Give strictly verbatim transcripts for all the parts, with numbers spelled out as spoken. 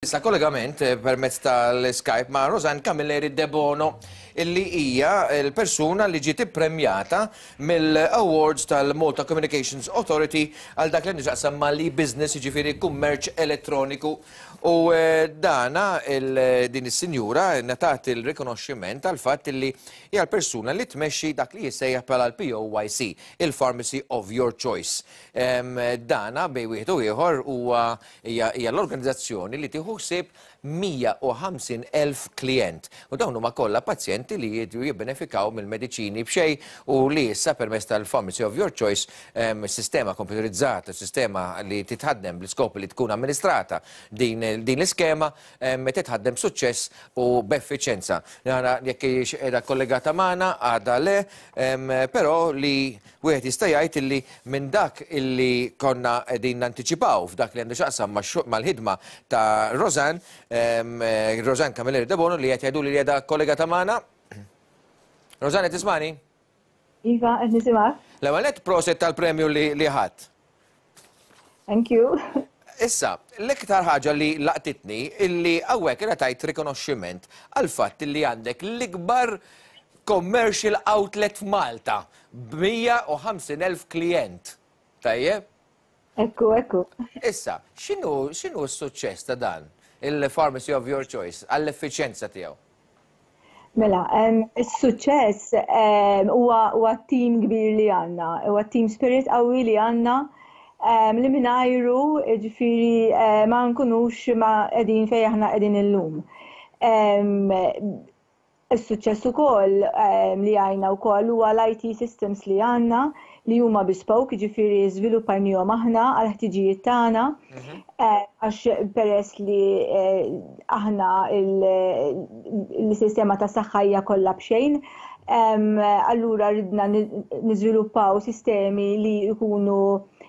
Issa kollegament eh, permezz tal-Skype ma' Rosanne Camilleri Debono, illi hija l-persuna li ġiet ippremjata mill-Awards tal-Malta Communications Authority għal dak li nixaqsam ma' l-business, ġifieri kummerċ elettroniku. U eh, dana il- din is-sinjura ngħatat il-rikonoxximent għal fatt illi hija l-persuna li tmexxi dak li jissejjaħ bħala l-P O Y C, il-Pharmacy of Your Choice. Em, Dana bejn wieħed u ieħor huwa hija hija l-organizzazzjoni li tieħu ħsieb mija u ħamsin elf klient. U dawn huma kollha pazjenti li jridu jibbenefikaw mill-mediċini b'xejn u li issa permezz tal-Pharmacy of Your Choice, em, sistema komputerizzata, sistema li titħaddem bl-iskop li tkun amministrata din, din l-iskema em, titħaddem b'suċċess u b'effiċenza. Nara jekk hijiex qiegħda kollegata magħna, għadha le, em, però li wieħed jista' jgħid illi minn dak illi konna qegħdin nantiċipaw f'dak li għandu x'jaqsam mal-ħidma ta' Rosanne, em, eh, Rosanne Camilleri Debono, li qed jgħidu li qiegħda kollegata magħna. Rosanne, tismani? Iva, qed nisimgħek. L-ewwel nett, prosit tal-premju li, li ħadd. Thank you. Issa, l-iktar ħaġa li laqtitni illi hawnhekk ingħatajt rikonoxximent għal fatt illi għandek l-ikbar commercial outlet f'Malta b'mija u ħamsin elf klient. Tajjeb? Ekku, ekku. Issa, x'inhu x'inhu s-suċċess ta' dan il-Pharmacy of Your Choice għall-effiċenza tiegħu? Mela, em, is-suċċess em, huwa huwa team kbir li għandna, huwa team spirit qawwi li għandna em, li mingħajru, ġifieri, eh, ma nkunux ma qegħdin fejn aħna qegħdin illum. Em, Is-suċċess ukoll em, li għajna wkoll huwa l-I T systems li għandna, li huma bespoke, ġifieri żviluppajnihom aħna għal ħtiġijiet tagħna. Eh, Għax peress li eh, aħna il-sistema ta' saħħa hija kollha b'xejn, em, allura ridna ni- niżviluppaw sistemi li jkunu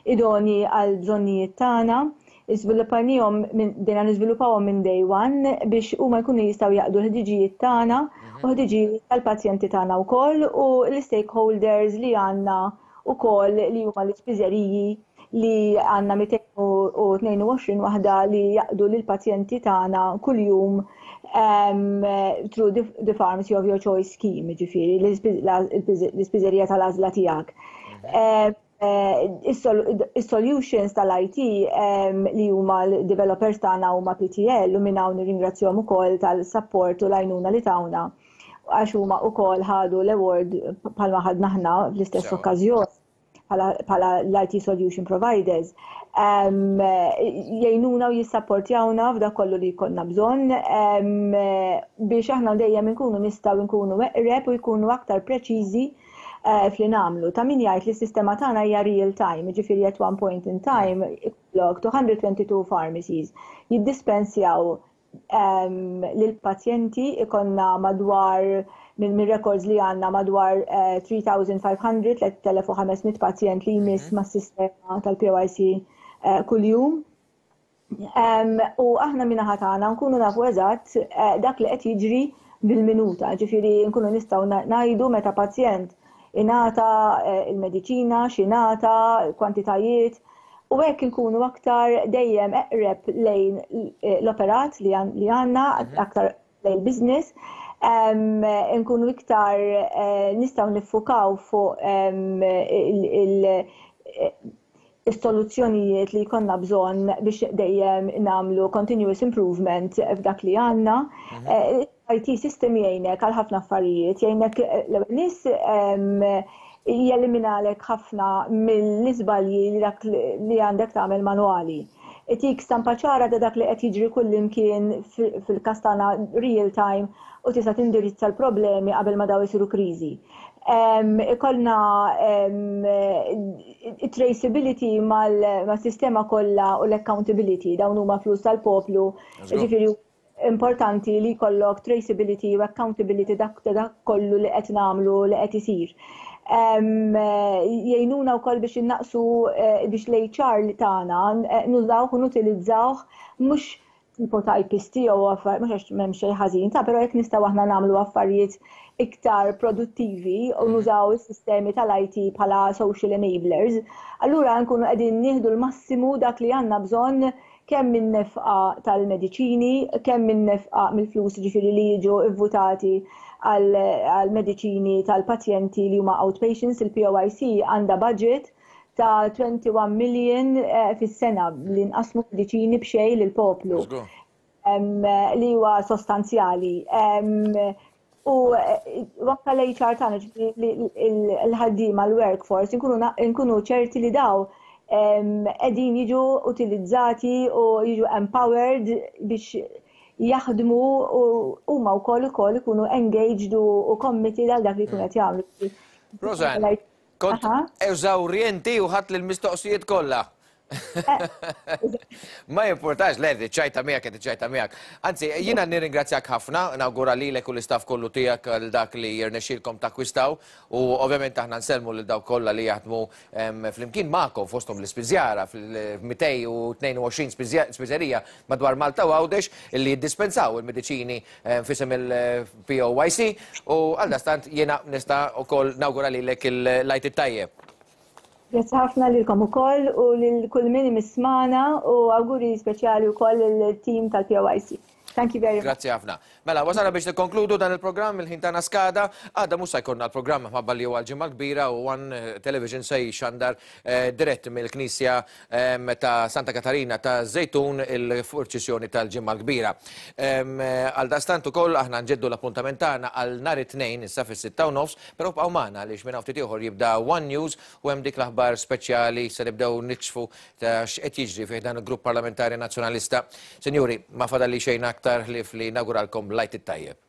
idoni għal bżonnijiet tagħna. Iżviluppajnihom minn bdejna niżviluppawhom minn day one biex huma jkunu jistgħu jaqdu l-ħtiġijiet tagħna u ħtiġijiet tal-pazjenti tagħna wkoll u l-stakeholders li għandna wkoll, li huma l-ispiżeriji li għandna mitejn u tnejn u għoxrin waħda li jaqdu lill-pazjenti tagħna kuljum um, through the, the Pharmacy of Your Choice scheme, ġifieri l-ispiżerija tal-għażla tiegħek. Eh, eh, Is-solutions tal-I T um, li huma l-developers tagħna huma P T L, u minn hawn nirringrazzjahom ukoll tal-support u l-għajnuna li tawna, għax huma wkoll ħadu l-award bħalma ħadna aħna fl-istess Sewa. okkażjoni bħala l-I T solution providers. Um, jgħinuna u jissapportjawna f'dak kollu li jkollna bżonn um, biex aħna dejjem inkunu nistgħu nkunu eqreb u jkunu aktar preċiżi uh, f'li nagħmlu. Ta' min jgħid li s-sistema tagħna hija real time, ġifieri at one point in time ikollok two hundred twenty-two pharmacies jiddispensjaw um, lill-pazjenti, ikollna madwar, minn min records li għandna, madwar uh, tliet elef u ħames mija, tliet elef u ħames mitt pazjent li jmiss mm mas-sistema tal-P O Y C uh, kuljum. Um, u aħna min-naħa tagħna nkunu nafu eżatt uh, dak li qed jiġri bil-minuta, ġifieri nkunu nistgħu ngħidu meta pazjent ingħata uh, il-mediċina, x'ingħata, kwantitajiet, u hekk nkunu aktar dejjem eqreb lejn l-operat li għandna, aktar lejn business, um, nkunu iktar uh, nistgħu niffukaw fuq um, il- is-soluzzjonijiet li jkollna bżonn biex dejjem nagħmlu continuous improvement f'dak li għandna. Eh, I T system jgħinek għal ħafna affarijiet, jgħinek l-ewwel nies jeliminalek ħafna mill-iżbalji li dak li għandek tagħmel manwali. Itik stampa ċara ta' dak li qed jiġri kullimkien, fil-każ tagħna real time, u tista' tindirizza l-problemi qabel ma daw isiru kriżi. Ikollna traceability mal-sistema kollha u l-accountability, dawn huma flus tal-poplu, ġifieri importanti li jkollok traceability u accountability dak dak kollu li qed nagħmlu, li qed isir. Jgħinuna wkoll biex innaqsu eh, biex l-H R li tagħna eh, nużawh u nutilizzawh, mhux tipo typist jew affarijiet, mhux għax m'hemm xejn ħażin ta', però jekk nistgħu aħna nagħmlu affarijiet iktar produttivi u nużaw is-sistemi tal-I T bħala social enablers, allura nkunu qegħdin nieħdu l-massimu dak li għandna bżonn. Kemm minn nefqa tal-mediċini, kemm minn nefqa mill-flus, ġifieri li jiġu vvutati għal mediċini tal-pazjenti li huma outpatients. Il-P O Y C għandha budget ta' wieħed u għoxrin million eh, fis-sena li nqasmu mediċini b'xejn lill-poplu li huwa sostanzjali. U anke l-H R tagħna, l-ħaddiema, l-workforce, nkunu ċerti li dawn qegħdin jiġu utilizzati u jiġu empowered biex jaħdmu u huma wkoll ukoll ikunu engaged u committed għal dak li jkunu qed jagħmlu. Rosanne, kont eżawrjenti u ħadt l-mistoqsijiet kollha. Ma jimportax, le, ċajta miegħek, ċajta miegħek. Anzi, jiena nirringrazzjak ħafna, nawgura lilek u l-istaff kollu tiegħek għal dak li jirnexxilkom takkwistaw u ovvjament aħna nsellmu lil dawk kollha li jaħdmu flimkien magħkom, fosthom l-ispiżjara fil-mitejn u tnejn u għoxrin spiżerija madwar Malta u Għawdex li jiddispensaw il-mediċini f'isem il-P O Y C u għaldaqstant jiena nista' ukoll nawgura lilek il-Għid it-tajjeb. Grazzi ħafna lilkom ukoll u lil kull min jismagħna u awguri speċjali wkoll il-team tal-P O Y C. Thank you very much. Grazzi ħafna. Mela, wasalna biex nikkonkludu dan il-programm, il-ħin tagħna skada. Għada mhux se jkollna l-programm minħabba li huwa l-Ġimgħa Kbira u One Television se jxandar eh, dirett mill-Knisja em, ta' Santa Katarina ta' Żejtun il-purċissjoni tal-Ġimgħa Kbira. Em, Għaldaqstant ukoll aħna nġeddu l-appuntament tagħna għal nhar it-Tnejn issa fis-sitta u nofs, però bqgħu magħna għaliex minn ftit ieħor jibda One News u hemm dik l-aħbar speċjali, se nibdew nikxfu ta' x'qed jiġri fih dan il-Grupp Parlamentari Nazzjonalista. Sinjuri, ma fadalli xejn aktar ħlief li nawguralkom l-Għid it-tajjeb.